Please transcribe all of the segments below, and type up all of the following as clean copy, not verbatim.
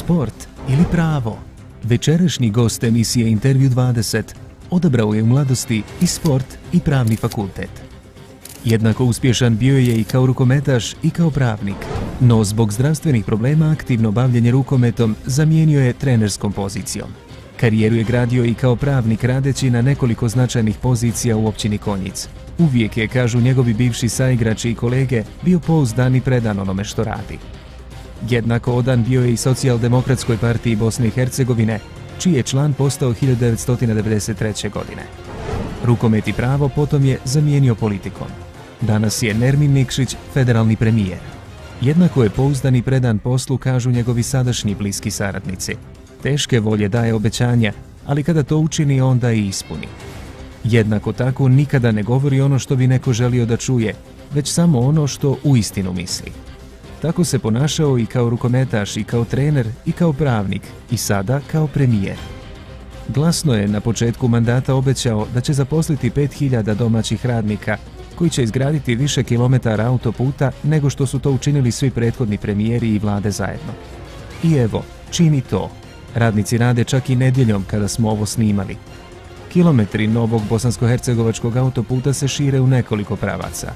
sport ili pravo? Večerašnji gost emisije Intervju 20 odabrao je u mladosti i sport i pravni fakultet. Jednako uspješan bio je i kao rukometaš i kao pravnik, no zbog zdravstvenih problema aktivno bavljenje rukometom zamijenio je trenerskom pozicijom. Karijeru je gradio i kao pravnik radeći na nekoliko značajnih pozicija u općini Konjic. Uvijek je, kažu njegovi bivši saigrači i kolege, bio pouzdan i predan onome što radi. Jednako odan bio je i Socijaldemokratskoj partiji Bosne i Hercegovine, čiji je član postao 1993. godine. Rukomet i pravo potom je zamijenio politikom. Danas je Nermin Nikšić federalni premijer. Jednako je pouzdan i predan poslu, kažu njegovi sadašnji bliski saradnici. Teške volje daje obećanja, ali kada to učini, onda i ispuni. Jednako tako nikada ne govori ono što bi neko želio da čuje, već samo ono što uistinu misli. Tako se ponašao i kao rukometaš, i kao trener, i kao pravnik, i sada kao premijer. Glasno je na početku mandata obećao da će zaposliti 5000 domaćih radnika, koji će izgraditi više kilometara autoputa nego što su to učinili svi prethodni premijeri i vlade zajedno. I evo, čini to. Radnici rade čak i nedjeljom kada smo ovo snimali. Kilometri novog bosansko-hercegovačkog autoputa se šire u nekoliko pravaca.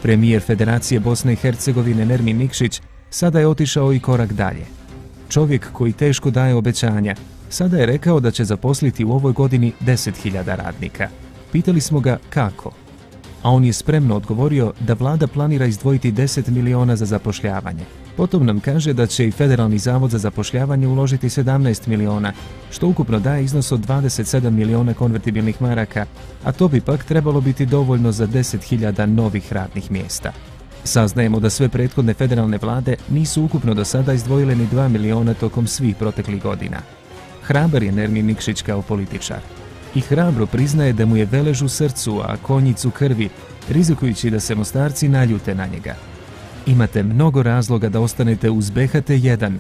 Premijer Federacije Bosne i Hercegovine Nermin Nikšić sada je otišao i korak dalje. Čovjek koji teško daje obećanja, sada je rekao da će zaposliti u ovoj godini 10.000 radnika. Pitali smo ga kako, a on je spremno odgovorio da vlada planira izdvojiti 10 miliona za zapošljavanje. Potom nam kaže da će i Federalni zavod za zapošljavanje uložiti 17 miliona, što ukupno daje iznos od 27 miliona konvertibilnih maraka, a to bi pak trebalo biti dovoljno za 10.000 novih radnih mjesta. Saznajemo da sve prethodne federalne vlade nisu ukupno do sada izdvojile ni 2 miliona tokom svih proteklih godina. Hrabar je Nermin Nikšić kao političar. I hrabro priznaje da mu je Velež u srcu, a Konjic u krvi, rizikujući da se Mostarci naljute na njega. Imate mnogo razloga da ostanete uz BHT1,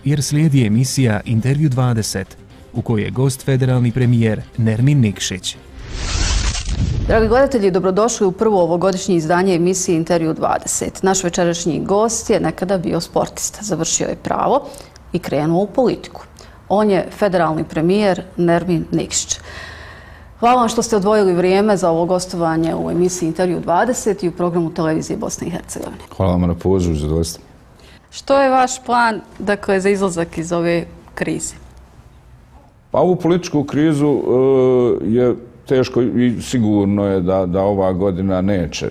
jer slijedi emisija Intervju 20, u kojoj je gost federalni premijer Nermin Nikšić. Dragi gledatelji, dobrodošli u prvo ovogodišnje izdanje emisije Intervju 20. Naš večerašnji gost je nekada bio sportista, završio je pravo i krenuo u politiku. On je federalni premijer Nermin Nikšić. Hvala vam što ste odvojili vrijeme za ovo gostovanje u emisiji Intervju 20 i u programu televizije Bosne i Hercegovine. Hvala vam na pozivu, zadovoljstvo. Što je vaš plan, dakle, za izlazak iz ove krize? Pa ovu političku krizu je teško i sigurno je da ova godina neće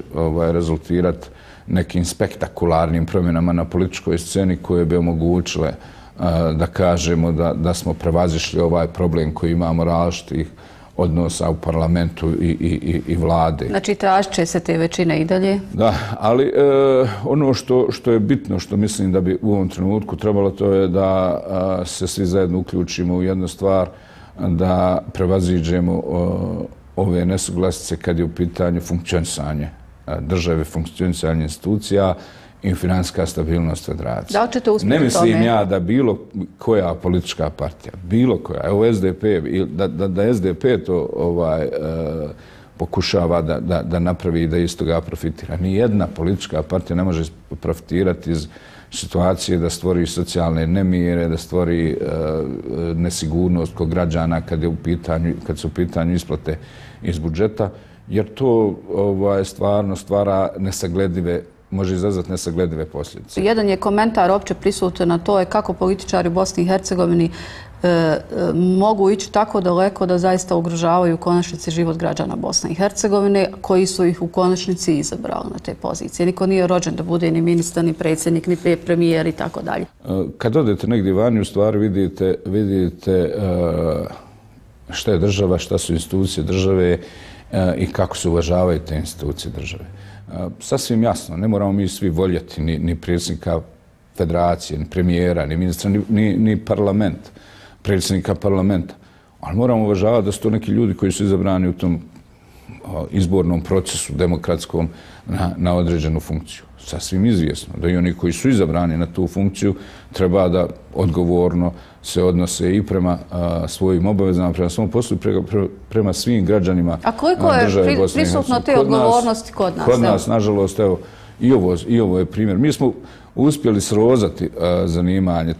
rezultirati nekim spektakularnim promjenama na političkoj sceni koje bi omogućile da kažemo da smo prevazišli ovaj problem koji imamo različitih odnosa u parlamentu i vlade. Znači, tražit će se te većine i dalje? Da, ali ono što je bitno, što mislim da bi u ovom trenutku trebalo, to je da se svi zajedno uključimo u jednu stvar, da prevaziđemo ove nesuglasice kad je u pitanju funkcionisanje države, funkcionisanje institucija i financijska stabilnost federacije. Da li ćete uspjeti ne mislim tome? ja da bilo koja politička partija, bilo koja, evo SDP, da SDP to pokušava da napravi i da iz toga profitira. Nijedna politička partija ne može profitirati iz situacije da stvori socijalne nemire, da stvori nesigurnost kod građana kad su u pitanju isplate iz budžeta, jer to stvarno stvara nesagledive, može izazvati nesagledive posljedice. Jedan je komentar opće prisutan, na to je kako političari u Bosni i Hercegovini mogu ići tako daleko da zaista ugrožavaju u konačnici život građana Bosne i Hercegovine, koji su ih u konačnici izabrali na te pozicije. Niko nije rođen da bude ni ministar, ni predsjednik, ni premijer i tako dalje. Kad odete negdje vani, u stvari vidite šta je država, šta su institucije države i kako se uvažavaju te institucije države. Sasvim jasno, ne moramo mi svi voljeti ni predsjednika federacije, ni premijera, ni ministra, ni parlament, predsjednika parlamenta. Ali moramo uvažavati da su to neki ljudi koji su izabrani u tom izbornom procesu demokratskom na određenu funkciju. Sasvim izvjesno da i oni koji su izabrani na tu funkciju treba da odgovorno se odnose i prema svojim obavezama, prema svom poslu i prema svim građanima države Bosne i Hercegovine. A koliko je prisutno te odgovornosti kod nas? Kod nas, nažalost, evo, I ovo je primjer. Mi smo uspjeli srozati zanimanje,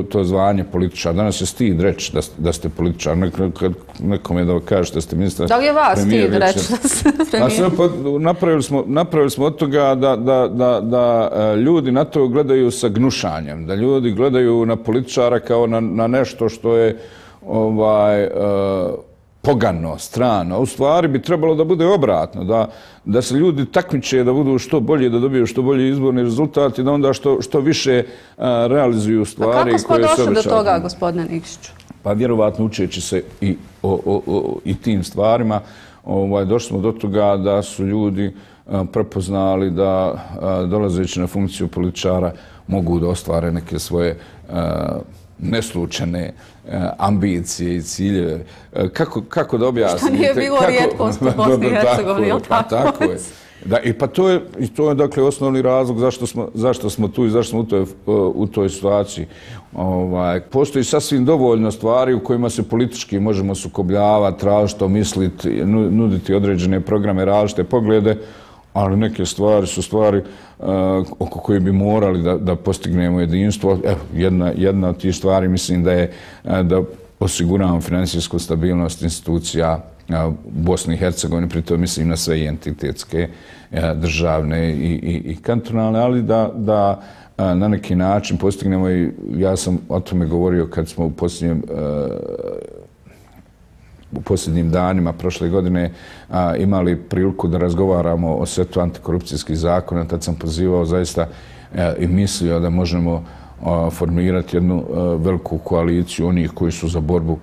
to zvanje političara. Danas je stid reći da ste političar. Nekom je da kažete da ste ministar. Da li je vas stid reći da ste premijer? Napravili smo od toga da ljudi na to gledaju sa gnušanjem, da ljudi gledaju na političara kao na nešto što je pogano, strano. U stvari bi trebalo da bude obratno, da se ljudi takmiče da budu što bolji, da dobiju što bolji izborni rezultat i da onda što više realizuju stvari koje se obećavaju. A kako smo došli do toga, gospodine Nikšiću? Pa vjerovatno učeći se i tim stvarima, došli smo do toga da su ljudi prepoznali da dolazeći na funkciju političara mogu da ostvare neke svoje neslučene ambicije i ciljeve. Kako da objasnite? Što nije bilo rijetkost u Bosni i Hercegovini, ili tako? Tako je. I to je dakle osnovni razlog zašto smo tu i zašto smo u toj situaciji. Postoji sasvim dovoljno stvari u kojima se politički možemo sukobljavati, različito misliti, nuditi određene programe, različite poglede, ali neke stvari su stvari oko koje bi morali da postignemo jedinstvo. Jedna od tih stvari mislim da je da osiguramo financijsku stabilnost institucija Bosne i Hercegovine, pritom mislim na sve entitetske, državne i kantonalne, ali da na neki način postignemo, i ja sam o tome govorio kad smo u posljednjim danima prošle godine imali priliku da razgovaramo o setu antikorupcijskih zakona. Tad sam pozivao zaista i mislio da možemo formirati jednu veliku koaliciju onih koji su za borbu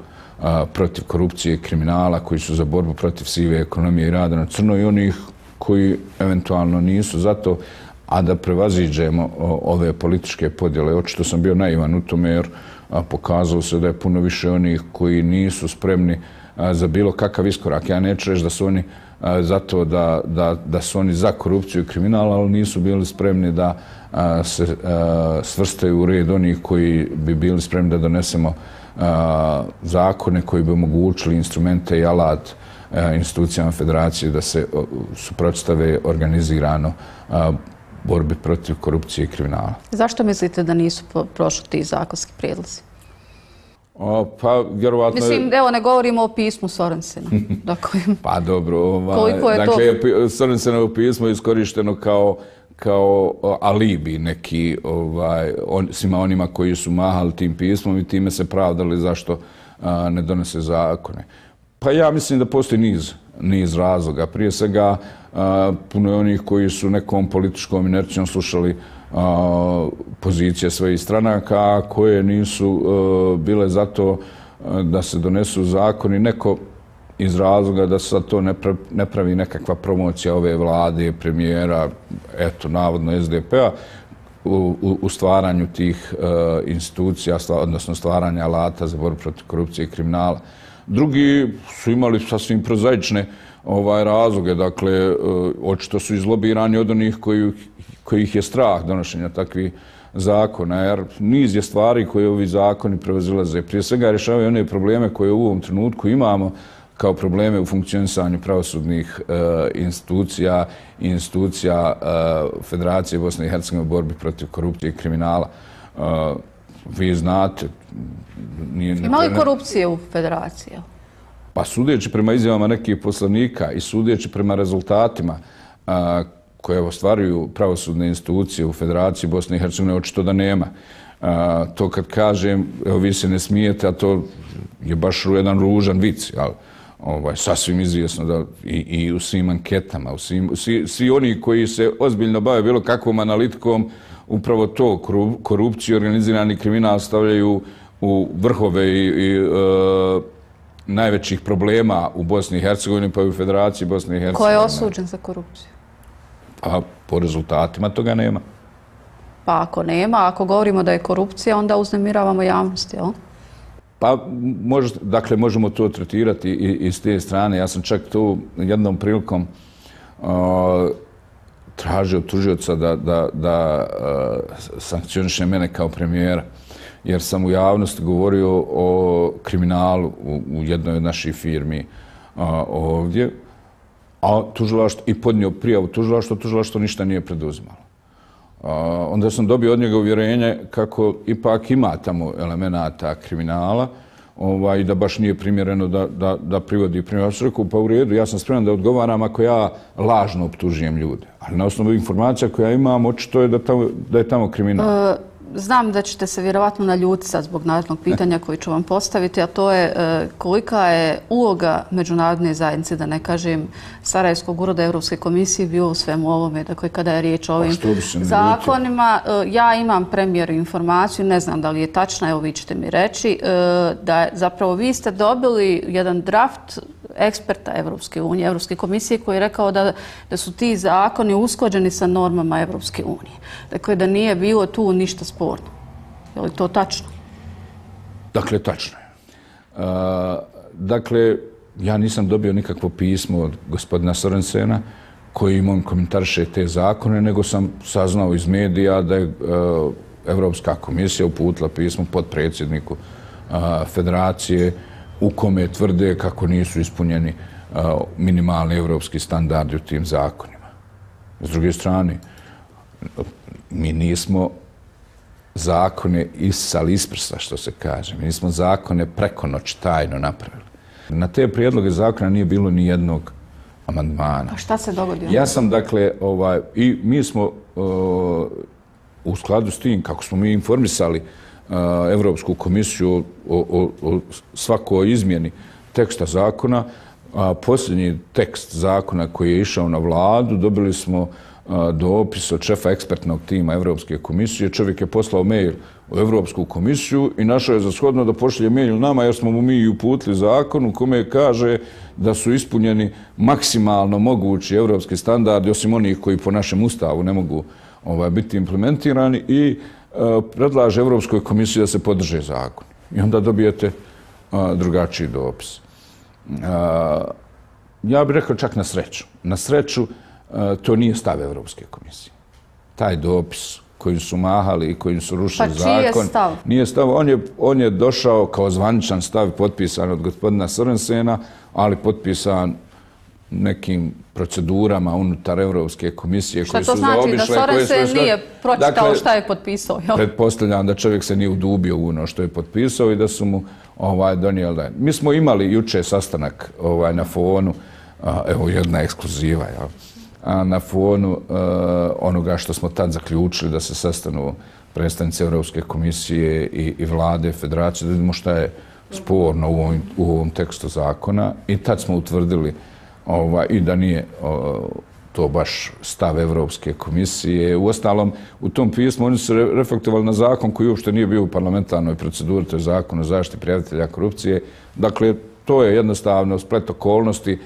protiv korupcije i kriminala, koji su za borbu protiv sive ekonomije i rada na crno i onih koji eventualno nisu za to, a da prevaziđemo ove političke podjele. Očito sam bio naivan u tome jer pokazalo se da je puno više onih koji nisu spremni za bilo kakav iskorak. Ja neću reći da su oni za to da su oni za korupciju i kriminal, ali nisu bili spremni da se svrstaju u red onih koji bi bili spremni da donesemo zakone koji bi omogućili instrumente i alat institucijama federacije da se suprotstave organizirano borbi protiv korupcije i kriminala. Zašto mislite da nisu prošli ti zakonski prijedlozi? Pa, vjerovatno... Mislim, evo, ne govorimo o pismu Sorensena. Pa dobro, koliko je to... Dakle, Sorensenovo pismo je iskorišteno kao alibi neki svima onima koji su mahali tim pismom i time se pravdali zašto ne donese zakone. Pa ja mislim da postoji niz razloga. Prije svega, puno je onih koji su nekom političkom inercijom slušali pozicije svojih stranaka koje nisu bile za to da se donesu zakoni. Neko iz razloga da se sad to ne pravi nekakva promocija ove vlade, premijera, eto, navodno SDP-a, u stvaranju tih institucija, odnosno stvaranja alata za borbu protiv korupcije i kriminala. Drugi su imali sasvim prozaične razloge, dakle, očito su izlobirani od onih kojih je strah donošenja takvih zakona, jer niz je stvari koje ovi zakoni prevazilaze. Prije svega rješavaju one probleme koje u ovom trenutku imamo kao probleme u funkcionisanju pravosudnih institucija i institucija Federacije Bosne i Hercegovine u borbi protiv korupcije i kriminala. Vi znate... Ima li korupcije u Federaciji? Pa sudeći prema izjavama nekih poslanika i sudeći prema rezultatima koje ostvaruju pravosudne institucije u Federaciji Bosne i Hercegovine, očito da nema. To kad kažem, evo vi se ne smijete, a to je baš jedan ružan vic, sasvim izvjesno da i u svim anketama, svi oni koji se ozbiljno bave bilo kakvom analitikom, upravo to, korupciju i organizirani kriminal stavljaju u vrhove i najvećih problema u Bosni i Hercegovini, pa i u Federaciji Bosne i Hercegovine. Ko je osuđen za korupciju? Pa po rezultatima toga nema. Pa ako nema, ako govorimo da je korupcija, onda uznemiravamo javnost, jel? Pa, dakle, možemo to tretirati i s te strane. Ja sam čak tu jednom prilikom tražio tužioca da sankcioniše mene kao premijera, jer sam u javnosti govorio o kriminalu u jednoj od naših firmi ovdje, a tužilaštvo i podnio prijavu tužilaštvo ništa nije preduzimalo. Onda sam dobio od njega uvjerenje kako ipak ima tamo elemenata kriminala i da baš nije primjereno da privodi primjer. Pa u redu, ja sam spreman da odgovaram ako ja lažno optužujem ljude. Ali na osnovu informacija koja imam, očito je da je tamo kriminal. Znam da ćete se vjerovatno naljutiti sad zbog narednog pitanja koji ću vam postaviti, a to je kolika je uloga međunarodne zajednice, da ne kažem Sarajevskog ureda Europske komisije, bio u svemu ovome. Dakle, kada je riječ o ovim zakonima, ja imam premijeru informaciju, ne znam da li je tačna, evo vi ćete mi reći, da zapravo vi ste dobili jedan draft eksperta Evropske unije, Evropske komisije, koji je rekao da su ti zakoni usklađeni sa normama Evropske unije. Dakle, da nije bilo tu ništa sporno. Je li to tačno? Dakle, tačno je. Dakle, ja nisam dobio nikakvo pismo od gospodina Sorensena koji on komentariše te zakone, nego sam saznao iz medija da je Evropska komisija uputila pismo potpredsjedniku Federacije u kome tvrde kako nisu ispunjeni minimalni evropski standardi u tim zakonima. S druge strane, mi nismo zakone isisali iz prsta, što se kaže. Mi nismo zakone preko noći tajno napravili. Na te prijedloge zakona nije bilo ni jednog amandmana. A šta se dogodilo? Ja sam, dakle, i mi smo u skladu s tim, kako smo mi informisali Evropsku komisiju o svakoj izmjeni teksta zakona, posljednji tekst zakona koji je išao na vladu, dobili smo dopis od šefa ekspertnog tima Evropske komisije. Čovjek je poslao mail u Evropsku komisiju i našao je za shodno da pošalje mail nama jer smo mu mi uputili zakon u kome kaže da su ispunjeni maksimalno mogući evropski standardi, osim onih koji po našem ustavu ne mogu biti implementirani, i predlaže Evropskoj komisiji da se podrže zakon. I onda dobijete drugačiji dopis. Ja bih rekao čak na sreću. Na sreću to nije stav Evropske komisije. Taj dopis kojim su mahali i kojim su rušili zakon. Pa čiji je stav? Nije stav. On je došao kao zvaničan stav potpisan od gospodina Sorensena, ali potpisan nekim procedurama unutar Evropske komisije koje su zaobišle. Šta to znači? Da Sorensen nije pročitao šta je potpisao? Pretpostavljam da čovjek se nije udubio u ono što je potpisao i da su mu donijeli. Mi smo imali juče sastanak na fonu, evo jedna ekskluziva, na fonu onoga što smo tad zaključili da se sastanu predstavnici Evropske komisije i vlade Federacije, da vidimo šta je sporno u ovom tekstu zakona, i tad smo utvrdili i da nije to baš stav Evropske komisije. Uostalom, u tom pismu oni su reflektovali na zakon koji uopšte nije bio u parlamentarnoj proceduri, to je zakon o zaštiti prijavitelja korupcije. Dakle, to je jednostavno splet okolnosti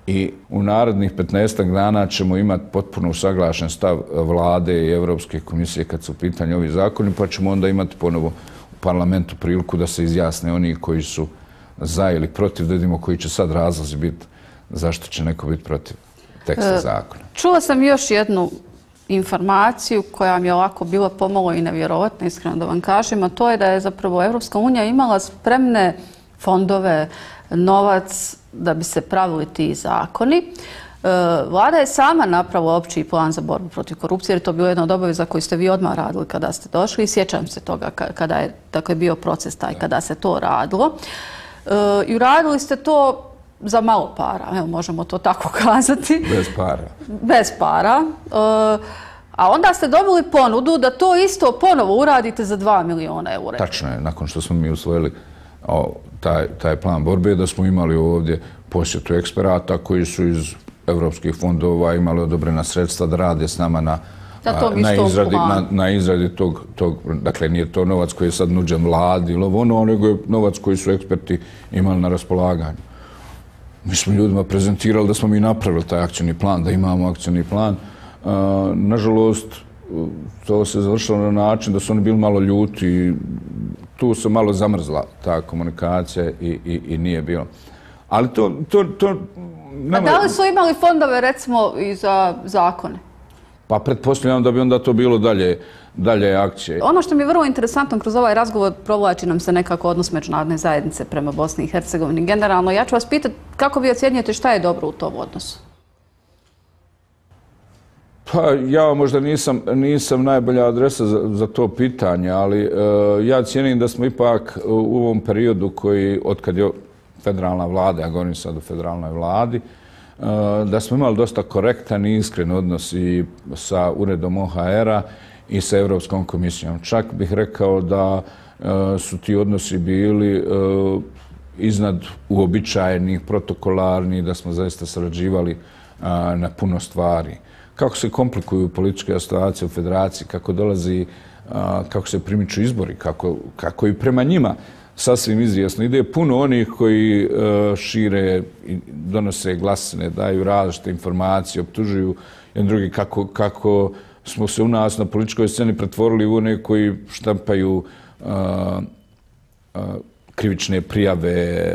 i u narednih 15 dana ćemo imati potpuno usaglašen stav vlade i Evropske komisije kad su u pitanju ovi zakoni, pa ćemo onda imati ponovo u parlamentu priliku da se izjasne oni koji su za ili protiv, da vidimo koji će sad razlozi biti zašto će neko biti protiv teksta zakona. Čula sam još jednu informaciju koja mi je ovako bila pomalo i nevjerovatna, iskreno da vam kažem, a to je da je zapravo Evropska unija imala spremne fondove, novac da bi se pravili ti zakoni. Vlada je sama napravila opći plan za borbu protiv korupcije, jer je to bilo jedna od obaveza koju ste vi odmah radili kada ste došli, i sjećam se toga kada je bio proces taj kada se to radilo. I uradili ste to za malo para, evo možemo to tako kazati. Bez para. Bez para. A onda ste dobili ponudu da to isto ponovo uradite za 2 miliona eura. Tačno je, nakon što smo mi usvojili taj plan borbe, da smo imali ovdje posjetu eksperata koji su iz evropskih fondova imali odobrena sredstva da rade s nama na izradi tog, dakle nije to novac koji je sad nuđen vladi ili ono, nego je novac koji su eksperti imali na raspolaganju. Mi smo ljudima prezentirali da smo mi napravili taj akcijni plan, da imamo akcijni plan. Nažalost, to se završilo na način da su oni bili malo ljuti i tu se malo zamrzla ta komunikacija i nije bilo. Ali to... A da li su imali fondove, recimo, i za zakone? Pa pretpostavljam da bi onda to bilo dalje akcije. Ono što mi je vrlo interesantno kroz ovaj razgovor, provlači nam se nekako odnos međunarodne zajednice prema Bosni i Hercegovini. Generalno, ja ću vas pitati kako vi ocjenjujete šta je dobro u tom odnosu? Pa ja možda nisam najbolja adresa za to pitanje, ali ja cijenim da smo ipak u ovom periodu koji, otkad je federalna vlada, ja govorim sad o federalnoj vladi, da smo imali dosta korektan i iskren odnos i sa uredom OHR-a i sa Europskom komisijom. Čak bih rekao da su ti odnosi bili iznad uobičajenih, protokolarnih, da smo zaista sarađivali na puno stvari. Kako se komplikuju političke situacije u federaciji, kako se primiču izbori, kako i prema njima sasvim izvjesno ide puno onih koji šire i donose glasine, daju različite informacije, optužuju jedan drugi kako smo se u nas na političkoj sceni pretvorili u one koji štampaju krivične prijave,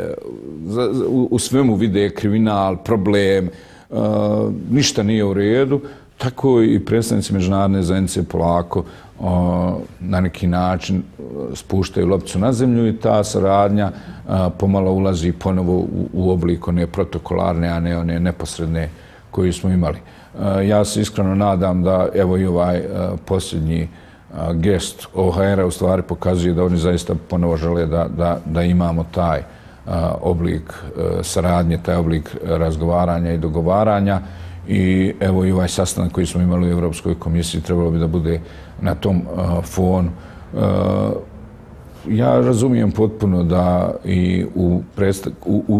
u svemu vide kriminal, problem, ništa nije u redu, tako i predstavnici međunarodne zajednice polako na neki način spuštaju lopticu na zemlju i ta saradnja pomalo ulazi ponovo u oblik one protokolarne, a ne one neposredne koju smo imali. Ja se iskreno nadam da evo i ovaj posljednji gest OHR-a u stvari pokazuje da oni zaista ponovo žele da imamo taj oblik saradnje, taj oblik razgovaranja i dogovaranja i evo i ovaj sastanak koji smo imali u Europskoj komisiji trebalo bi da bude na tom fonu. Ja razumijem potpuno da i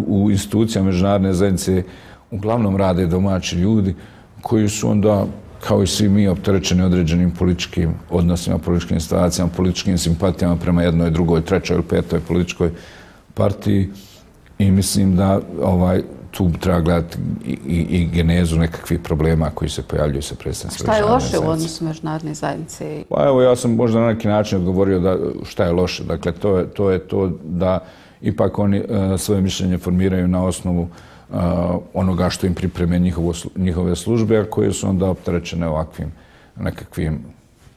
u institucijama međunarodne zajednice uglavnom rade domaći ljudi koji su onda, kao i svi mi, opterećeni određenim političkim odnosima, političkim situacijama, političkim simpatijama prema jednoj, drugoj, trećoj ili petoj političkoj partiji i mislim da tu treba gledati i genezu nekakvih problema koji se pojavljuju sa predstavnicima međunarodne zajednice. Šta je loše u odnosu međunarodne zajednice? Pa evo, ja sam možda na neki način odgovorio da šta je loše. Dakle, to je to da ipak oni svoje mišljenje formiraju na osnovu onoga što im pripreme njihove službe, a koje su onda opterećene ovakvim nekakvim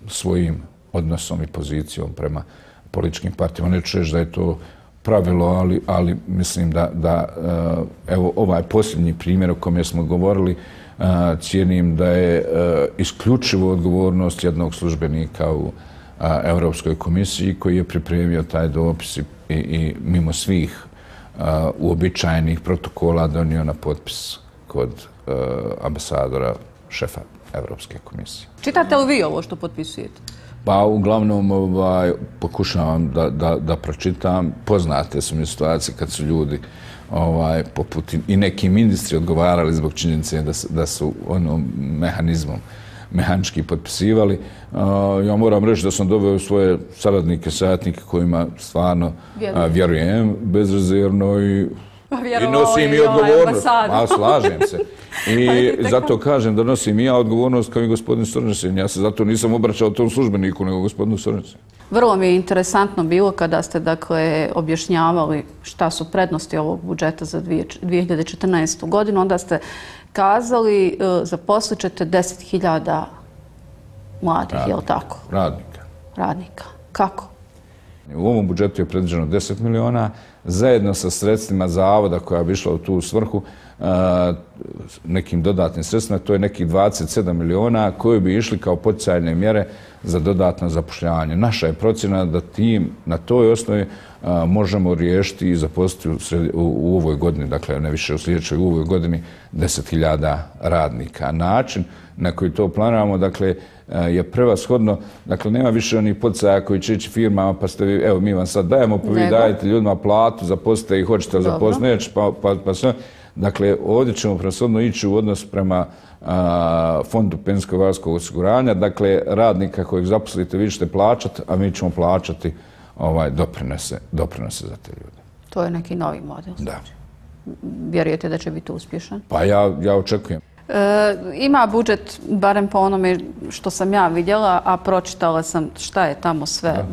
svojim odnosom i pozicijom prema političkim partijama. Neću reći da je to pravilo, ali mislim da evo ovaj posljednji primjer o kome smo govorili, cijenim da je isključivo odgovornost jednog službenika u Europskoj komisiji koji je pripremio taj dopis i mimo svih uobičajenih protokola donio na potpis kod ambasadora, šefa Europske komisije. Čitate li vi ovo što potpisujete? Pa uglavnom pokušavam da pročitam. Poznate su mi situacije kad su ljudi poput i neki ministri odgovarali zbog činjenice da su mehanizmom mehanički potpisivali. Ja moram reći da sam doveo svoje saradnike, savjetnike kojima stvarno vjerujem bezrezervno i nosim i odgovornost. Slažem se. I zato kažem da nosim i ja odgovornost kao i gospodin Sorensen. Ja se zato nisam obraćao tom službeniku, nego gospodinu Sorensenu. Vrlo mi je interesantno bilo kada ste objašnjavali šta su prednosti ovog budžeta za 2014. godinu. Onda ste kazali zaposlit ćete 10.000 mladih, je li tako? Radnika. Kako? U ovom budžetu je predviđeno 10 miliona, zajedno sa sredstvima zavoda koja bi išla u tu svrhu, nekim dodatnim sredstvima, to je nekih 27 miliona koji bi išli kao poticajne mjere za dodatno zapošljavanje. Naša je procjena da tim na toj osnovi možemo riješiti i zaposliti u ovoj godini, dakle ne više u sljedećoj, u ovoj godini 10.000 radnika. Način na koji to planiramo, dakle, je prevashodno, dakle, nema više onih poticaja koji će ići firmama, pa ste vi, evo, mi vam sad dajemo, pa vi dajete ljudima platu, zaposlite ih, hoćete zaposliti, neće, pa sve. Dakle, ovdje ćemo prevashodno ići u odnos prema Fondu penzijsko-invalidskog osiguranja, dakle, radnika kojeg zaposlite vi ćete plaćati, a mi ćemo plaćati doprinose za te ljude. To je neki novi model. Da. Vjerujete da će biti uspješan? Pa ja očekujem. Ima budžet, barem po onome što sam ja vidjela, a pročitala sam šta je tamo sve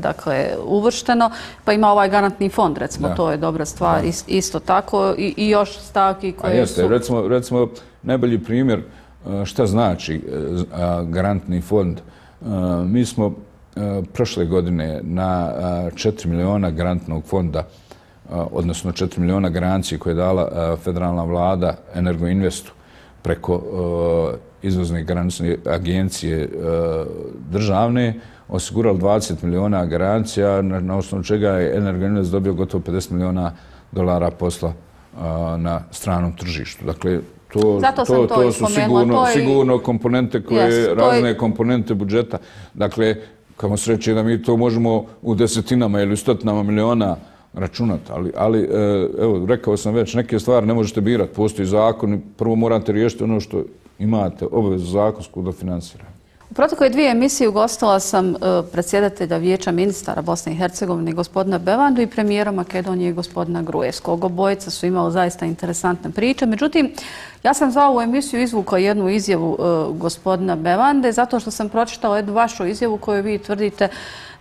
uvršteno, pa ima ovaj garantni fond, recimo, to je dobra stvar, isto tako, i još stavki koje su... Recimo, najbolji primjer šta znači garantni fond. Mi smo prošle godine na 4 miliona garantnog fonda, odnosno 4 miliona garancije koje je dala federalna vlada Energoinvestu, preko izvozne granične agencije državne, osigurali 20 miliona garancija, na osnovu čega je Energoinvest dobio gotovo $50 miliona posla na stranom tržištu. Dakle, to su sigurno komponente koje, razne komponente budžeta. Dakle, kamo se reći da mi to možemo u desetinama ili stotinama miliona računati, ali evo, rekao sam već, neke stvari ne možete birati, postoji zakon, prvo morate riješiti ono što imate, obavezu zakonsku da finansirate. U protekle 2 emisije ugostila sam predsjedatelja Vijeća ministara Bosne i Hercegovine gospodina Bevandu i premijera Makedonije gospodina Gruevskog. Obojica su imali zaista interesantne priče. Međutim, ja sam za ovu emisiju izvukla jednu izjavu gospodina Bevande zato što sam pročitala jednu vašu izjavu koju vi tvrdite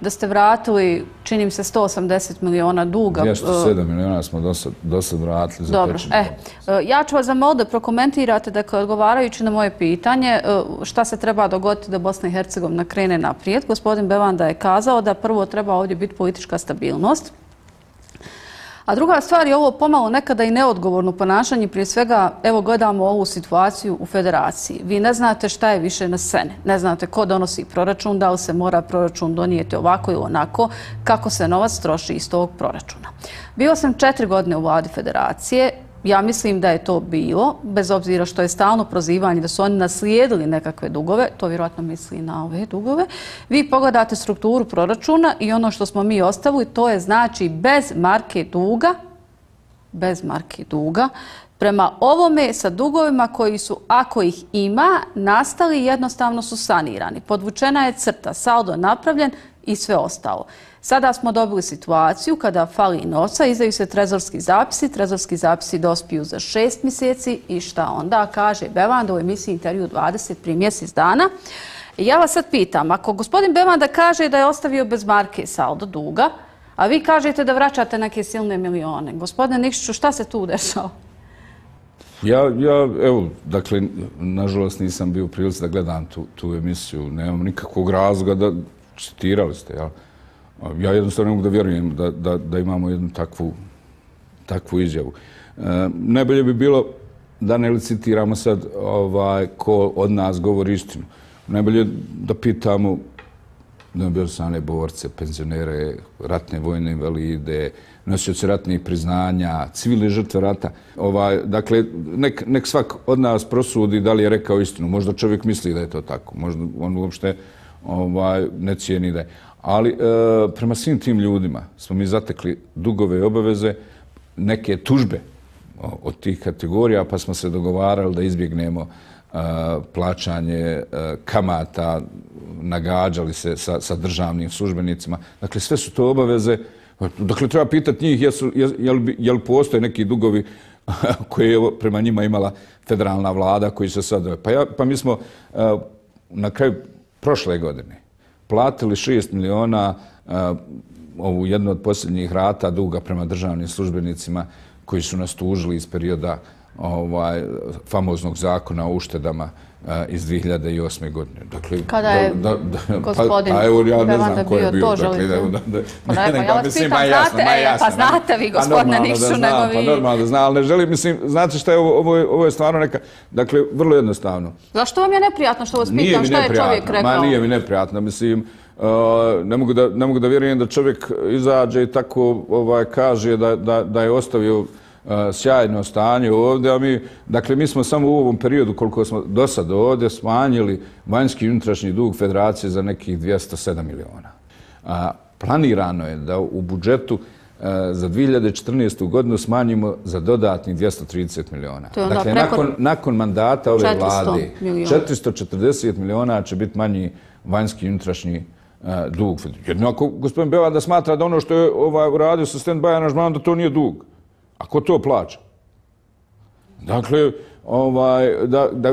da ste vratili, čini mi se, 180 miliona duga. 207 miliona smo do sad vratili za tečni novac. Ja ću vas zamoliti da prokomentirate, dakle, odgovarajući na moje pitanje šta se treba dogoditi da Bosna i Hercegovina krene naprijed. Gospodin Bevanda je kazao da prvo treba ovdje biti politička stabilnost. A druga stvar je ovo pomalo nekada i neodgovorno ponašanje. Prije svega, evo, gledamo ovu situaciju u federaciji. Vi ne znate šta je više na sceni. Ne znate ko donosi proračun, da li se mora proračun donijeti ovako ili onako, kako se novac troši iz tog proračuna. Bio sam 4 godine u vladi federacije. Ja mislim da je to bilo, bez obzira što je stalno prozivanje da su oni naslijedili nekakve dugove, to vjerojatno misli na ove dugove. Vi pogledate strukturu proračuna i ono što smo mi ostavili, to je znači bez marke duga, prema ovome sa dugovima koji su, ako ih ima, nastali, jednostavno su sanirani. Podvučena je crta, saldo napravljen i sve ostalo. Sada smo dobili situaciju kada fali novca, izdaju se trezorski zapisi dospiju za 6 mjeseci i šta onda, kaže Bevanda u emisiji Intervju 20 prije mjesec dana. Ja vas sad pitam, ako gospodin Bevanda kaže da je ostavio bez marke saldo duga, a vi kažete da vraćate neke silne milione, gospodine Nikšiću, šta se tu dešava? Evo, dakle, nažalost nisam bio u prilici da gledam tu emisiju, nemam nikakvog razloga da citirali ste, jel? Ja jednostavno ne mogu da vjerujem da imamo jednu takvu izjavu. Najbolje bi bilo da ne licitiramo sad ko od nas govori istinu. Najbolje da pitamo neobilsane borce, penzionere, ratne vojne invalide, nosioce ratnih priznanja, civilne žrtve rata. Dakle, nek svak od nas prosudi da li je rekao istinu. Možda čovjek misli da je to tako. Možda on uopšte ne cijeni da je. Ali prema svim tim ljudima smo mi zatekli dugove i obaveze, neke tužbe od tih kategorija, pa smo se dogovarali da izbjegnemo plaćanje kamata, nagađali se sa državnim službenicima. Dakle, sve su to obaveze. Dakle, treba pitati njih je li postoje neki dugovi koje je prema njima imala federalna vlada koji se sad... Pa mi smo na kraju prošle godine platili 6 miliona ovu jednu od posljednjih rata duga prema državnim službenicima koji su nas tužili iz perioda famoznog zakona o uštedama iz 2008. godine. Dakle, kada je gospodin Bevanda bio to želite? Ja vas pitam, znate vi gospodine Nikšiću nego vi. Pa normalno da zna, ali ne želim, mislim, znate šta je ovo je stvarno neka, dakle, vrlo jednostavno. Zašto vam je neprijatno što vas pitam šta je čovjek rekao? Ma nije mi neprijatno, mislim, ne mogu da vjerujem da čovjek izađe i tako kaže da je ostavio sjajno stanje ovdje, a mi smo samo u ovom periodu koliko smo do sada ovdje smanjili vanjski i unutrašnji dug federacije za nekih 207 miliona. Planirano je da u budžetu za 2014. godinu smanjimo za dodatnih 230 miliona. Dakle, nakon mandata ove vlade 440 miliona će biti manji vanjski i unutrašnji dug. Jedno ako gospodin Bevanda smatra da ono što je uradio sa stand-by aranžmanom da to nije dug. A ko to plaća? Dakle,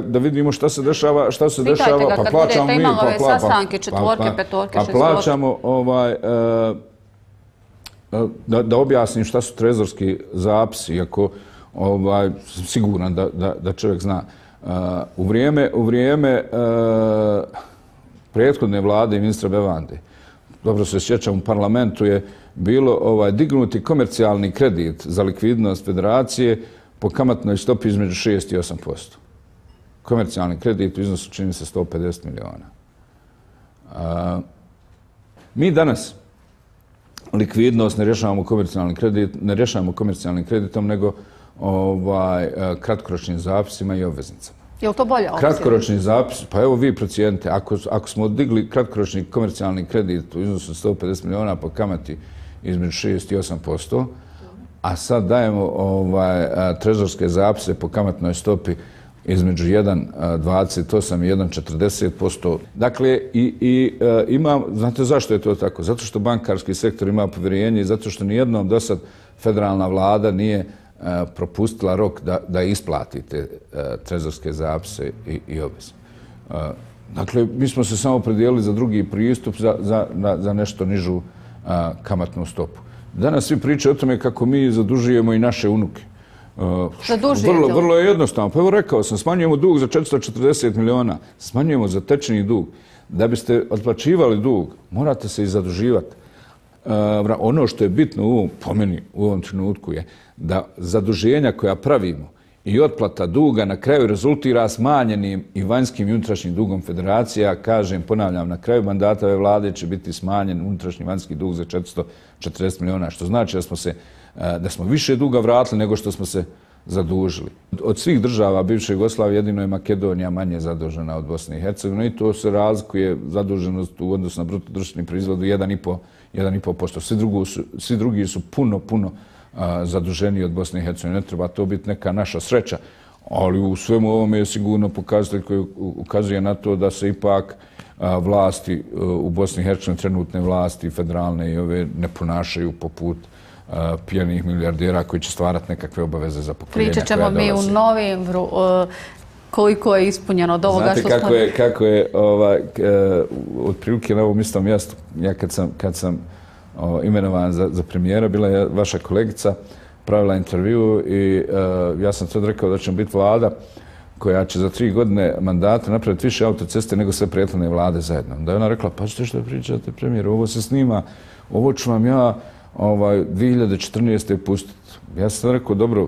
da vidimo šta se dešava, Pitajte ga kad budete imali ove sastanke, četvorke, petorke, šestvorke. Pa plaćamo, da objasnim šta su trezorski zapisi, iako sam siguran da čovjek zna. U vrijeme prethodne vlade i ministra Bevande, dobro se sjećam, u parlamentu je bilo dignuti komercijalni kredit za likvidnost federacije po kamatnoj stopi između 6 i 8%. komercijalni kredit u iznosu čini se 150 miliona. Mi danas likvidnost ne rješavamo komercijalnim kreditom, nego kratkoročnim zapisima i obveznicama. Je li to bolja opcija? Kratkoročni zapis, pa evo vi procijenite, ako smo digli kratkoročni komercijalni kredit u iznosu 150 miliona po kamati između 6 i 8%, a sad dajemo trezorske zapise po kamatnoj stopi između 1,28 i 1,40%. Dakle, znate zašto je to tako? Zato što bankarski sektor ima povjerenje i zato što nijednom do sad federalna vlada nije propustila rok da isplati te trezorske zapise i obveze. Dakle, mi smo se samo predijelili za drugi pristup, za nešto nižu kamatnu stopu. Danas svi pričaju o tome kako mi zadužujemo i naše unuke. Vrlo je jednostavno. Pa evo rekao sam, smanjujemo dug za 440 miliona, smanjujemo za tečni dug. Da biste otplaćivali dug, morate se i zaduživati. Ono što je bitno po meni u ovom trenutku je da zaduženja koja pravimo i otplata duga na kraju rezultira smanjenim i vanjskim i unutrašnjim dugom federacija. Kažem, ponavljam, na kraju mandata ove vlade će biti smanjen unutrašnji vanjski dug za 440 miliona, što znači da smo više duga vratili nego što smo se zadužili. Od svih država bivše Jugoslavije jedino je Makedonija manje zadužena od Bosne i Hercegovine i to se razlikuje zaduženost u odnosu na bruto društveni proizvod 1,5%. Svi drugi su puno zaduženiji od Bosne i Hercegovine. Ne treba to biti neka naša sreća, ali u svemu ovome je sigurno pokazatelj koji ukazuje na to da se ipak vlasti u Bosni i Hercegovini, trenutne vlasti, federalne i ove, ne ponašaju poput pijanih milijardera koji će stvarati nekakve obaveze za pokoljenja koja dolaze. Pričat ćemo mi u novembru koliko je ispunjeno od ovoga što smo... Znate kako je otprilike na ovom istom mjestu, ja kad sam imenovan za premijera, bila je vaša kolegica, pravila intervju i ja sam sad rekao da ćemo biti vlada koja će za 3 godine mandata napraviti više autoceste nego sve prethodne vlade zajedno. Da je ona rekla, pa što pričate premijeru, ovo se snima, ovo ću vam ja 2014. pustiti. Ja sam rekao, dobro,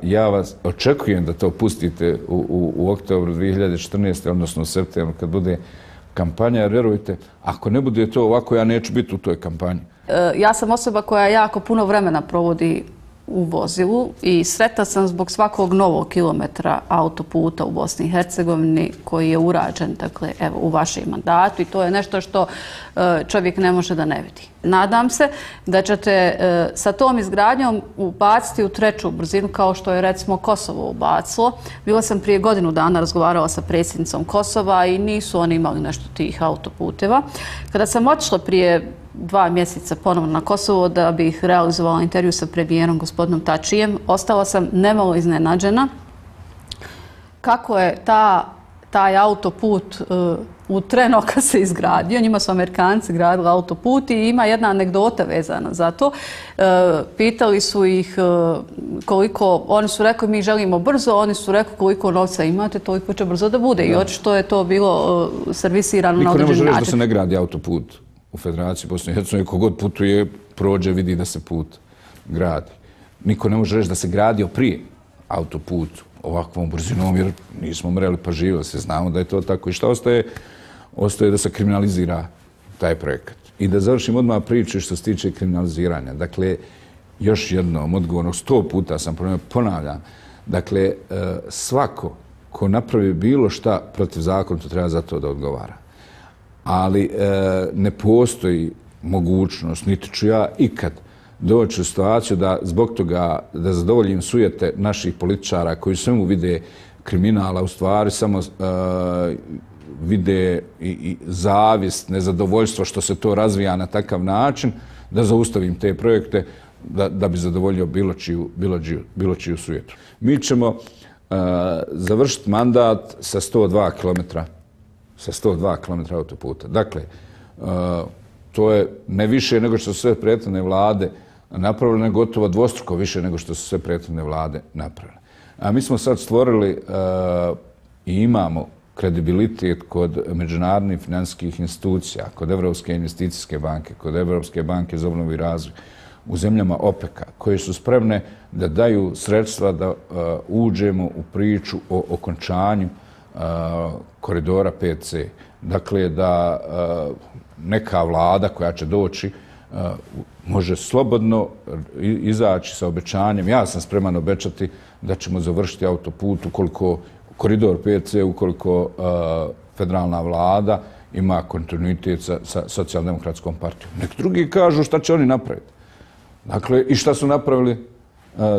ja vas očekujem da to pustite u oktobru 2014. odnosno u septembru kad bude kampanja, jer vjerujte, ako ne bude to ovako, ja neću biti u toj kampanji. Ja sam osoba koja jako puno vremena provodi u vozilu i sretna sam zbog svakog novog kilometra autoputa u Bosni i Hercegovini koji je urađen, dakle, evo, u vašem mandatu i to je nešto što čovjek ne može da ne vidi. Nadam se da ćete sa tom izgradnjom ubaciti u 3. brzinu kao što je recimo Kosovo ubacilo. Bila sam prije godinu dana razgovarala sa predsjednicom Kosova i nisu oni imali nešto tih autoputeva. Kada sam otišla prije 2 mjeseca ponovno na Kosovo da bih realizovala intervju sa premijerom gospodinom Tačijem, ostala sam nemalo iznenađena kako je taj autoput u trenu kad se izgradio. Njima su Amerikanci gradili autoput i ima jedna anegdota vezana za to. Pitali su ih koliko, oni su rekli mi želimo brzo, oni su rekli koliko novca imate, toliko će brzo da bude. I očito je to bilo servisirano na određen način. Niko ne može reći da se ne gradi autoput u Federaciji Bosne i Hercegovine. Kogod putuje, prođe, vidi da se put gradi. Niko ne može reći da se gradio prije autoput ovakvom brzinom, jer nismo mreli pa živjeli se, znamo da je to tako. I šta ostaje? Ostaje da se kriminalizira taj projekat. I da završim odmah priču što se tiče kriminaliziranja. Dakle, još jednom, odgovorno, 100 puta sam ponavljam. Dakle, svako ko napravi bilo šta protiv zakona, to treba za to da odgovara. Ali ne postoji mogućnost, niti ću ja ikad doći u situaciju da zbog toga da zadovoljim sujete naših političara koji svemu vide kriminala, u stvari samo vide i zavist, nezadovoljstvo što se to razvija na takav način, da zaustavim te projekte da bi zadovoljio bilo čiju sujetu. Mi ćemo završiti mandat sa 102 km autoputa. Dakle, to je ne više nego što su sve prethodne vlade napravile, gotovo dvostruko više nego što su sve prethodne vlade napravile. A mi smo sad stvorili i imamo kredibilitet kod međunarodnih financijskih institucija, kod Evropske investicijske banke, kod Evropske banke za obnovu i razvoj, u zemljama OPEC-a, koje su spremne da daju sredstva da uđemo u priču o okončanju koridora 5C. Dakle, da neka vlada koja će doći može slobodno izaći sa obećanjem. Ja sam spreman obećati da ćemo završiti autoput ukoliko koridor 5C, ukoliko federalna vlada ima kontinuitet sa socijaldemokratskom partijom. Nek drugi kažu šta će oni napraviti. Dakle, i šta su napravili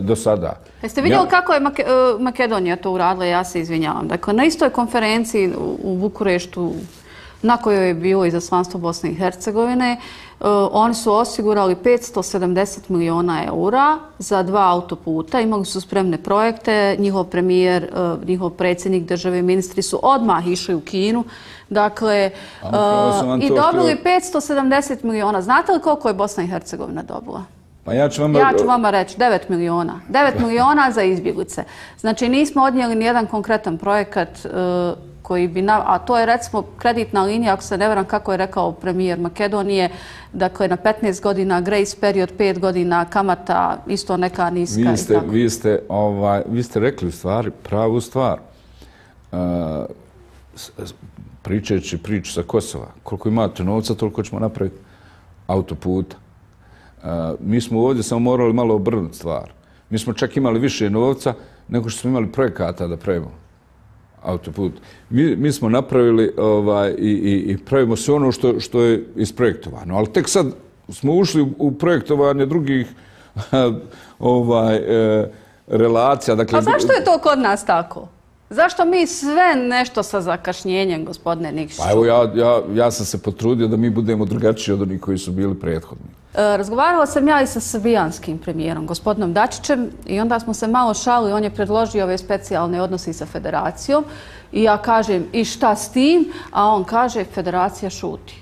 do sada. Jeste vidjeli kako je Makedonija to uradila? Ja se izvinjavam. Dakle, na istoj konferenciji u Bukureštu na kojoj je bilo izaslanstvo Bosne i Hercegovine, oni su osigurali 570 miliona eura za 2 autoputa. Imali su spremne projekte. Njihov premijer, njihov predsjednik države, ministri su odmah išli u Kinu. Dakle, i dobili 570 miliona. Znate li koliko je Bosna i Hercegovina dobila? Pa ja ću vama reći 9 miliona. 9 miliona za izbjeglice. Znači, nismo odnijeli nijedan konkretan projekat koji bi, a to je recimo kreditna linija, ako se ne varam kako je rekao premijer Makedonije, dakle na 15 godina, grace period 5 godina, kamata isto neka niska. Vi ste rekli u stvari pravu stvar. Pričajući priču sa Kosova, koliko imate novca, toliko ćemo napraviti autoputa. Mi smo ovdje samo morali malo obrnuti stvar. Mi smo čak imali više novca nego što smo imali projekata da pravimo autoput. Mi smo napravili i pravimo sve ono što je isprojektovano. Ali tek sad smo ušli u projektovanje drugih relacija. A zašto je to kod nas tako? Zašto mi sve nešto sa zakašnjenjem, gospodine Nikšiću? Pa evo, ja sam se potrudio da mi budemo drugačiji od onih koji su bili prethodni. Razgovarala sam ja i sa srbijanskim premijerom, gospodinom Dačićem, i onda smo se malo šalili. On je predložio ove specijalne odnose sa federacijom i ja kažem i šta s tim, a on kaže federacija šuti.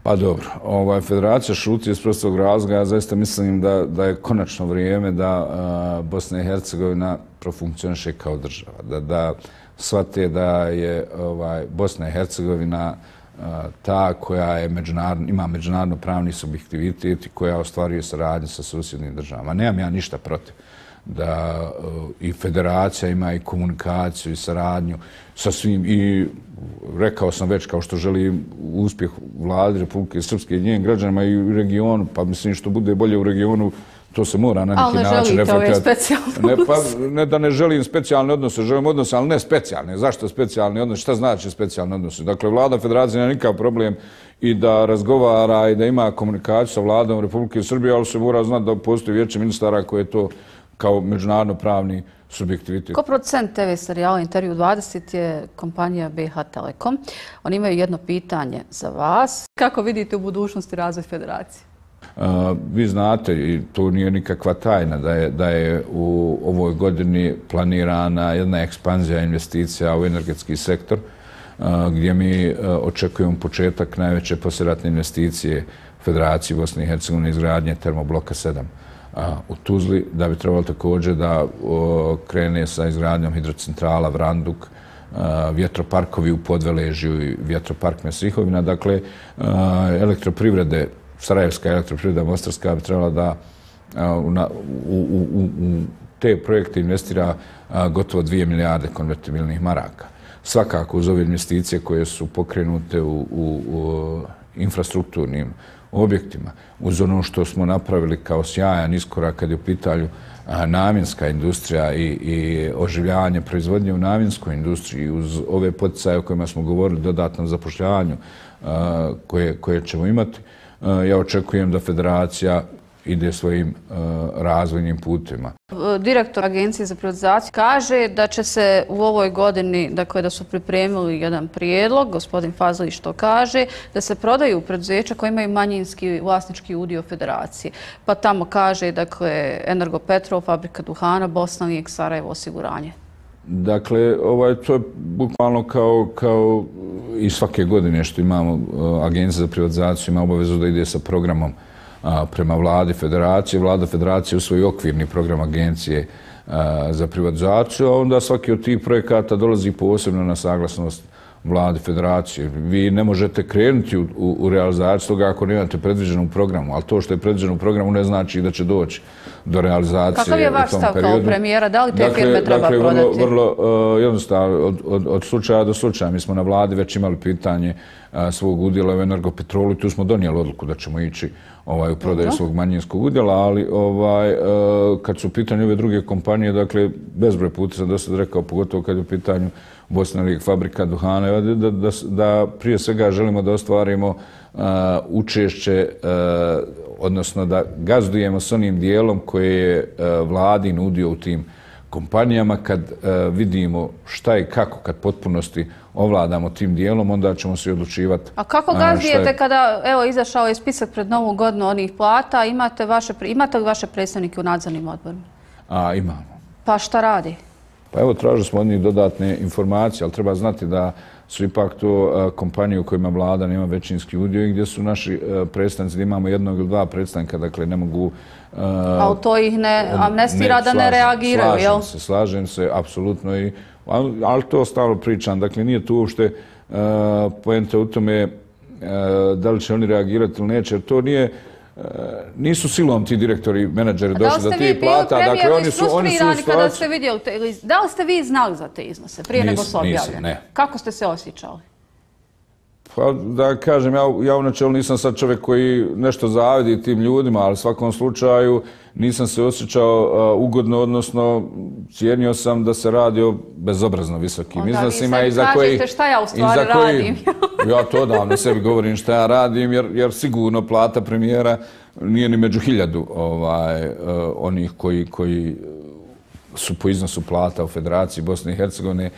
Pa dobro, federacija šuti iz prostog razloga. Ja zaista mislim da je konačno vrijeme da Bosna i Hercegovina profunkcioniše kao država. Da shvate da je Bosna i Hercegovina ta koja ima međunarodno pravni subjektivitet i koja ostvaruje saradnju sa susjednim državama. Nemam ja ništa protiv da i federacija ima i komunikaciju i saradnju sa svim, i rekao sam već kao što želim uspjeh vladi Republike Srpske i njenim građanima i u regionu, pa mislim što bude bolje u regionu, to se mora na neki način reflektirati. Ali ne želite ove specijalne odnose? Ne da ne želim specijalne odnose, želim odnose, ali ne specijalne. Zašto specijalne odnose? Šta znači specijalne odnose? Dakle, vlada federacije nema nikakav problem i da razgovara i da ima komunikaciju sa vladom Republike Srbije, ali se mora znati da postoji vijeće ministara koje je to kao međunarodno pravni subjektivitet. Ko producent TV serijala Intervju 20 je kompanija BH Telekom. Oni imaju jedno pitanje za vas. Kako vidite u budućnosti razvoj federacije? Vi znate, i to nije nikakva tajna, da je u ovoj godini planirana jedna ekspanzija investicija u energetski sektor, gdje mi očekujemo početak najveće poslijeratne investicije Federacije Bosne i Hercegovine izgradnje termobloka 7 u Tuzli, da bi trebalo također da krene sa izgradnjom hidrocentrala Vranduk, vjetroparkovi u Podveležju i vjetropark Mesrihovina. Dakle, elektroprivrede, Sarajevska elektroprivreda Mostarska bi trebala da u te projekte investira gotovo 2 milijarde konvertibilnih maraka. Svakako uz ove investicije koje su pokrenute u infrastrukturnim objektima, uz ono što smo napravili kao sjajan iskorak kad je u pitanju namjenska industrija i oživljavanje proizvodnje u namjenskoj industriji, uz ove poticaje o kojima smo govorili, dodatnom zapošljavanju koje ćemo imati, ja očekujem da federacija ide svojim razvojnim putima. Direktor Agencije za privatizaciju kaže da će se u ovoj godini, dakle da su pripremili jedan prijedlog, gospodin Fazlić to kaže, da se prodaju preduzeća koji imaju manjinski vlasnički udio federacije. Pa tamo kaže, dakle, Energopetrol, Fabrika duhana, Bosna, Sarajevo osiguranje. Dakle, to je bukvalno kao i svake godine što imamo, Agencija za privatizaciju ima obavezu da ide sa programom prema vladi federacije. Vlada federacije usvoji okvirni program Agencije za privatizaciju, a onda svaki od tih projekata dolazi posebno na saglasnost vladi federacije. Vi ne možete krenuti u realizaciju toga ako nemate predviđenu programu, ali to što je predviđeno u programu ne znači da će doći do realizacije. Kakav je vaš stav kao premijera? Da li te firme treba prodati? Vrlo jednostavno, od slučaja do slučaja. Mi smo na vladi već imali pitanje svog udjela u Energopetrolu i tu smo donijeli odluku da ćemo ići u prodaju svog manjinskog udjela, ali kad su u pitanju ove druge kompanije, dakle, bezbroj puta sam dosta rekao, pogotovo kad je u pitanju Bosna Lig, fabrika duhana, da prije svega želimo da ostvarimo učešće, odnosno da gazdujemo s onim dijelom koje je vladin udio u tim kompanijama. Kad vidimo šta i kako, kad potpunosti ovladamo tim dijelom, onda ćemo se odlučivati. A kako gazdujete kada, evo, izašao je spisak pred Novu godinu onih plata, imate li vaše predstavnike u nadzornim odborima? Imamo. Pa šta radi? Pa evo, tražili smo od njih dodatne informacije, ali treba znati da su ipak to kompanije u kojima vlada nema većinski udio i gdje su naši predstavnici, da imamo jednog ili dva predstavnika, dakle ne mogu... Ali to ih ne amnestira da ne reagiraju, jel? Slažem se, apsolutno, ali to stalno pričam. Dakle, nije tu uopšte poenta u tome da li će oni reagirati ili neće, jer to nisu silom ti direktori, menadžeri došli do tih plata. Da li ste vi bili frustrirani kada ste vidjeli, da li ste vi znali za te iznose prije nego su objavljeni? Ne. Kako ste se osjećali? Pa da kažem, ja u načelu nisam sad čovjek koji nešto zavidi tim ljudima, ali u svakom slučaju nisam se osjećao ugodno, odnosno cijenio sam da se radi o bezobrazno visokim iznosima. Onda vi sad kažete šta ja u stvari radim. Ja to odavno sebi govorim šta ja radim, jer sigurno plata premijera nije ni među 1000 onih koji su po iznosu plata u Federaciji Bosne i Hercegovine,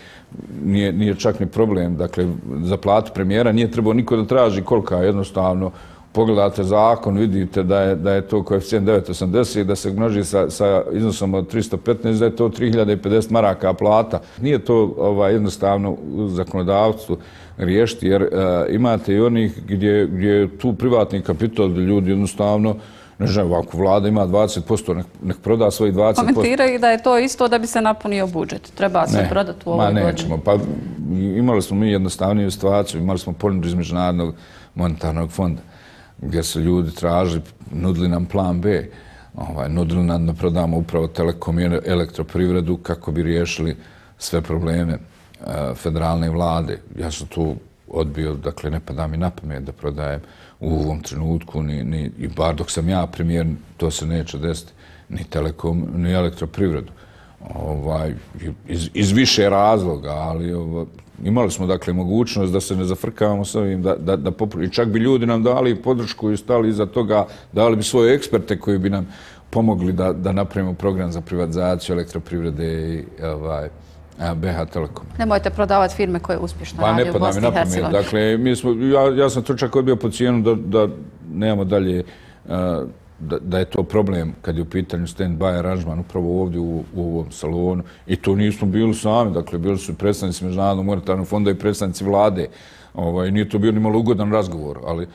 nije čak ni problem. Dakle, za platu premijera nije trebao niko da traži kolika je, jednostavno. Pogledate zakon, vidite da je to koeficijent 9,80, da se množi sa iznosom od 315, da je to 3050 maraka plata. Nije to jednostavno u zakonodavstvu riješiti, jer imate i onih gdje je tu privatni kapital, gdje ljudi jednostavno, ne znam, ako vlada ima 20%, nek proda svojih 20%. Komentiraju da je to isto da bi se napunio budžet. Treba se prodati u ovoj godini. Nećemo. Pa imali smo mi jednostavniju situaciju, imali smo ponudu iz Međunarodnog monetarnog fonda, gdje su ljudi tražili, nudili nam plan B, nudili nam da prodamo upravo Telekom i elektroprivredu kako bi riješili sve probleme federalne vlade. Ja sam tu odbio, dakle, ne pada mi na pamet da prodajem u ovom trenutku, i bar dok sam ja premijer, to se neće desiti, ni Telekom, ni elektroprivredu. Iz više razloga, ali imali smo, dakle, mogućnost da se ne zafrkavamo s ovim, i čak bi ljudi nam dali podršku i stali iza toga, dali bi svoje eksperte koji bi nam pomogli da napravimo program za privatizaciju elektroprivrede i BH Telekom. Nemojte prodavati firme koje uspješno radi u Bosni i Hercegovini. Dakle, ja sam to čak odbio po cijenu da nemamo dalje, da je to problem kad je u pitanju stand-by aranžman upravo ovdje u ovom salonu. I to nismo bili sami, dakle, bili su predstavnici Međunarodnog monetarnog fonda i predstavnici vlade. Nije to bio ni malo ugodan razgovor, ali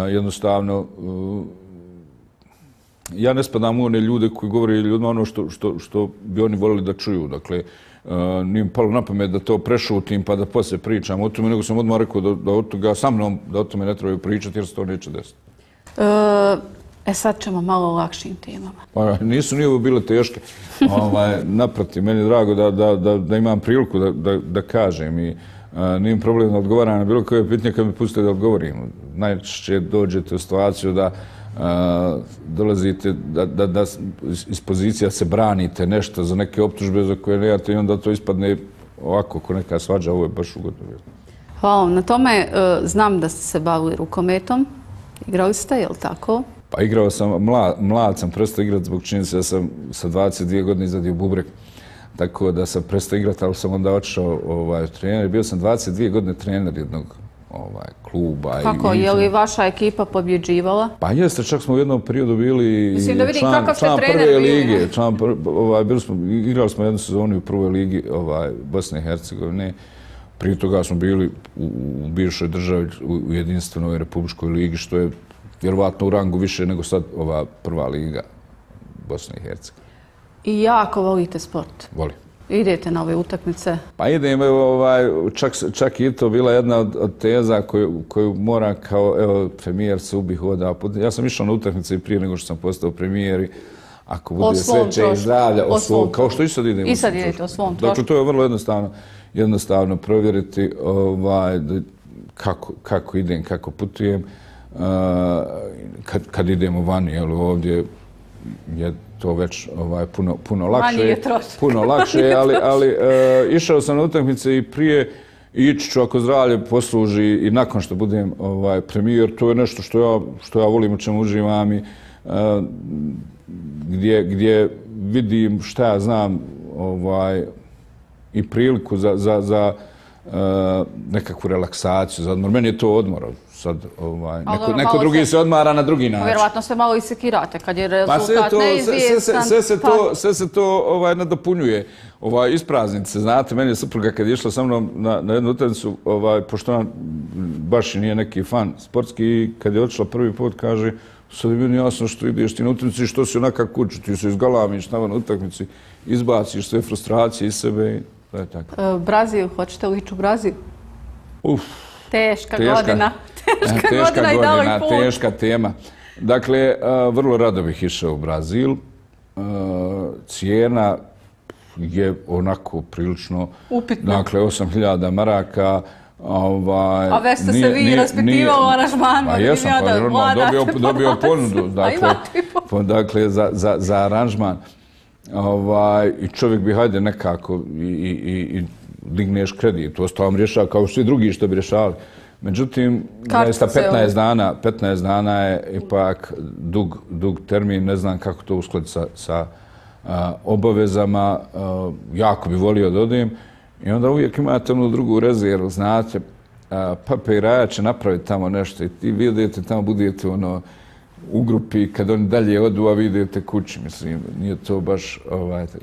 jednostavno ja ne spadam u one ljude koji govore ljudima ono što bi oni voljeli da čuju. Dakle, nije mi palo na pamet da to prešutim pa da poslije pričam o tome, nego sam odmah rekao da od toga sa mnom, da o tome ne trebaju pričati jer se to neće desiti. Sad ćemo malo o lakšim temama. Pa nisu ni ovo bile teške. Naprotiv, meni je drago da imam priliku da kažem i nijem problem da odgovaram na bilo koje pitanje kad mi pustite da odgovorim. Najčešće dođete u situaciju da dolazite, da iz pozicija se branite nešto za neke optužbe za koje nemate i onda to ispadne ovako, ko neka svađa, ovo je baš ugodno. Hvala vam na tome. Znam da ste se bavili rukometom. Igrali ste, je li tako? Pa igrao sam, mlad sam prestao igrati zbog činjenice da sam sa 22 godine izvadio bubreg. Tako da sam prestao igrati, ali sam onda otišao trener. Bio sam 22 godine trener jednog kluba. Kako? Je li vaša ekipa pobjeđivala? Pa jeste, čak smo u jednom periodu bili član prve lige. Igrali smo jednu sezonu u prvoj ligi Bosne i Hercegovine. Prije toga smo bili u bivšoj državi u jedinstvenoj republičkoj ligi, što je vjerovatno u rangu više nego sad ova prva liga Bosne i Hercegovine. I jako volite sport? Volim. Idete na ove utakmice? Pa idem, čak i to bila jedna od teza koju moram kao premijer se ubi hoda. Ja sam išao na utakmice i prije nego što sam postao premijer i ako bude sreće i zdravlja, kao što i sad idem. I sad idete o svom trošku. Dakle, to je vrlo jednostavno provjeriti kako idem, kako putujem. Kad idemo vani, ovdje je to već puno lakše. Manje je trošak. Puno lakše, ali išao sam na utakmice i prije ići ću ako zdravlje posluži i nakon što budem premijer. To je nešto što ja volim, u čemu uživam i gdje vidim šta ja znam i priliku za nekakvu relaksaciju, za odmor. Meni je to odmor. Sad, neko drugi se odmara na drugi način. Vjerovatno se malo i sekirate kad je rezultat neizvjestan. Sve se to nadopunjuje. Ispraznice se, znate, meni je supruga kad je išla sa mnom na jednu utakmicu, pošto ona baš i nije neki fan sportski, i kad je otišla prvi put, kaže, sad je meni jasno što ideš ti na utakmici i što si onakav kuću, ti se izgalamiš na utakmici, izbaciš sve frustracije iz sebe i to je tako. Brazil, hoćete li ići u Brazil? Teška godina. Teška tema. Dakle, vrlo rado bih išao u Brazil. Cijena je onako prilično... Upitna. Dakle, 8.000 maraka. A već ste se vi raspitivali o aranžmanu? Pa jesam, pa normalno, dobio ponudu. Dakle, za aranžman. I čovjek bi, hajde, nekako i digneš kredit. To vam rješava kao svi drugi što bi rješavali. Međutim, 15 dana je ipak dug termin, ne znam kako to uskladiti sa obavezama. Jako bi volio da odem. I onda uvijek imate onu drugu rezervu, znate, Papa i Raja će napraviti tamo nešto i ti vidite tamo, budete u grupi, kad oni dalje odu, a vidite kući, mislim, nije to baš,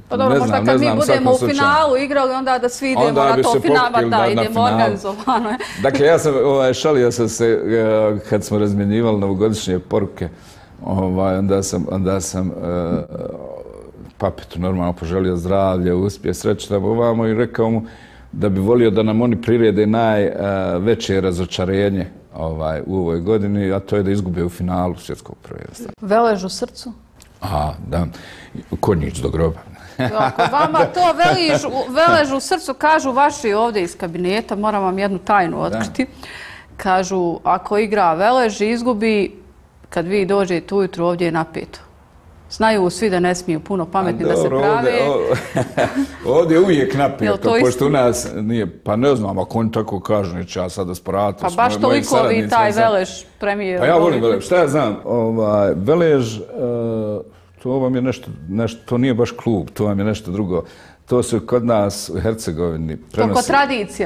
pa dobro, možda kad mi budemo u finalu igrali, onda da svi idemo na to finala, da, idemo organizovano. Dakle, ja sam, šalio sam se, kad smo razmjenjivali novogodišnje poruke, onda sam Papetu normalno poželio zdravlje, uspjeh, sreće tamo ovamo i rekao mu da bi volio da nam oni prirede najveće razočarenje u ovoj godini, a to je da izgube u finalu svjetskog prvenstva. Velež u srcu? Da. Konjić do groba. Ako vama to velež u srcu, kažu vaši ovdje iz kabineta, moram vam jednu tajnu otkriti. Kažu, ako igra Velež i izgubi, kad vi dođete ujutru, ovdje je napeto. Znaju svi da ne smiju puno pametni da se prave. Ovdje je uvijek napeto, pošto u nas nije, pa ne znam, ako oni tako kažu, neće ja sada spravati. Pa baš toliko vi taj Velež premijer. Pa ja volim Velež, šta ja znam, Velež, to vam je nešto, to nije baš klub, to vam je nešto drugo. To se kod nas u Hercegovini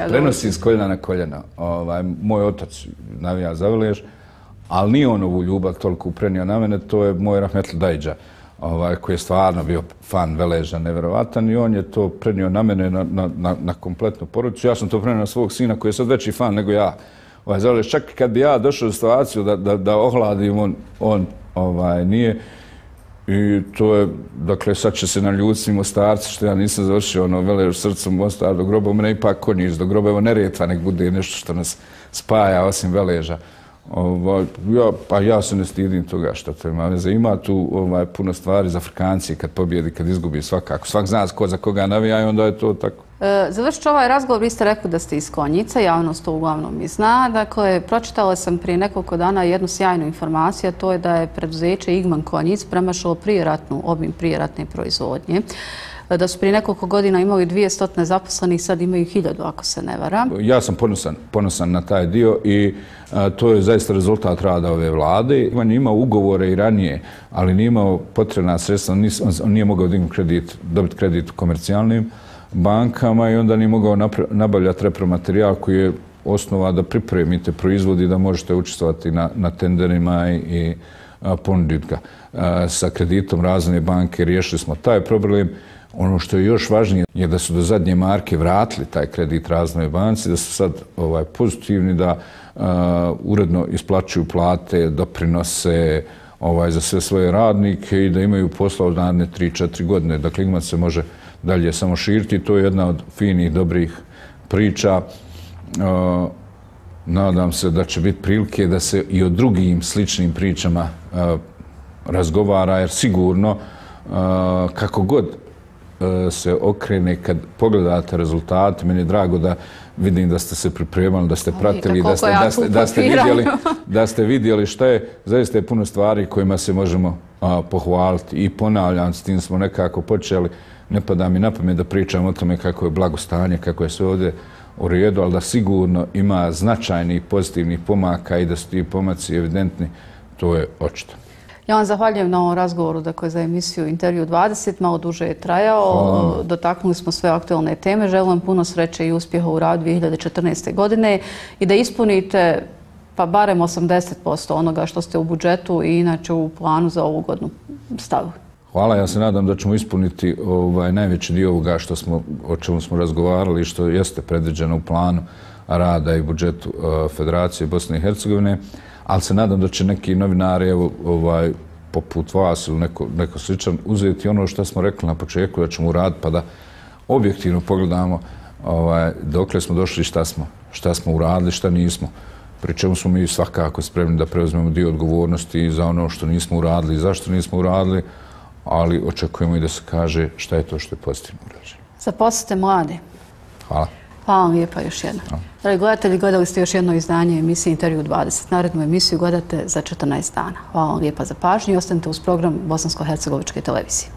prenosi iz koljena na koljeno. Moj otac navija za Velež, ali nije on ovu ljubav toliko prenio na mene, to je moj Rahmetli Dajđa, koji je stvarno bio fan Veleža, nevjerovatan, i on je to prenio na mene, na kompletnu porodicu. Ja sam to prenio na svog sina koji je sad veći fan nego ja. Čak kad bi ja došao u situaciju da ohladim, on nije. I to je, dakle, sad će se naljutiti Mostarci, što ja nisam završio Velež srcom Mostar do groba, u mene ipak Konjić do groba, evo Neretva nek bude nešto što nas spaja osim Veleža. Pa ja se ne stidim toga što to ima veze. Ima tu puno stvari za Afrikanci kad pobjedi, kad izgubi svakako. Svak zna ko za koga navija i onda je to tako. Završit ću ovaj razgovor, vi ste rekli da ste iz Konjica, javnost to uglavnom i zna. Dakle, pročitala sam prije nekoliko dana jednu sjajnu informaciju, a to je da je preduzeće Igman Konjic premašilo obim prijeratne proizvodnje. Da su prije nekoliko godina imali 200 zaposlenih, sad imaju 1000, ako se ne varam. Ja sam ponosan na taj dio i to je zaista rezultat rada ove vlade. On je imao ugovore i ranije, ali nije imao potrebna sredstva, on nije mogao dobiti kredit u komercijalnim bankama i onda nije mogao nabavljati repromaterijal koji je osnova da pripremite proizvod i da možete učestvovati na tenderima i ponuditi ga. Sa kreditom Razvojne banke riješili smo taj problem. Ono što je još važnije je da su do zadnje marke vratili taj kredit Razvojnoj banci, da su sad pozitivni, da uredno isplaćuju plate, doprinose za sve svoje radnike i da imaju posla od naredne 3-4 godine. Dakle, Igman se može dalje samo širiti. To je jedna od finih, dobrih priča. Nadam se da će biti prilike da se i o drugim sličnim pričama razgovara, jer sigurno kako god se okrene kad pogledate rezultate, meni je drago da vidim da ste se pripremali, da ste pratili, da ste vidjeli šta je, zaista je puno stvari kojima se možemo pohvaliti i ponavljam, s tim smo nekako počeli, ne pada mi na pamet da pričam o tome kako je blagostanje, kako je sve ovdje u redu, ali da sigurno ima značajnih pozitivnih pomaka i da su ti pomaci evidentni, to je očito. Ja vam zahvaljujem na ovom razgovoru za emisiju Intervju 20. Malo duže je trajao. Dotaknuli smo sve aktualne teme. Želim vam puno sreće i uspjeha u radu 2014. godine i da ispunite pa barem 80% onoga što ste u budžetu i inače u planu za ovu godinu stavili. Hvala, ja se nadam da ćemo ispuniti najveći dio ovoga o čemu smo razgovarali i što jeste predviđeno u planu rada i budžetu Federacije Bosne i Hercegovine, ali se nadam da će neki novinari poput vas ili neko sličan uzeti ono što smo rekli na početku da ćemo uraditi pa da objektivno pogledamo dokle smo došli i šta smo uradili, šta nismo. Pri čemu smo mi svakako spremni da preuzmemo dio odgovornosti za ono što nismo uradili i zašto nismo uradili, ali očekujemo i da se kaže šta je to što je pozitivno urađeno. Zaposlite mlade. Hvala. Hvala vam lijepa još jedno. Dragi gledatelji, gledali ste još jedno izdanje emisije Intervju 20. Narednu emisiju gledate za 14 dana. Hvala vam lijepa za pažnju i ostanite uz program Bosansko-hercegovičke televizije.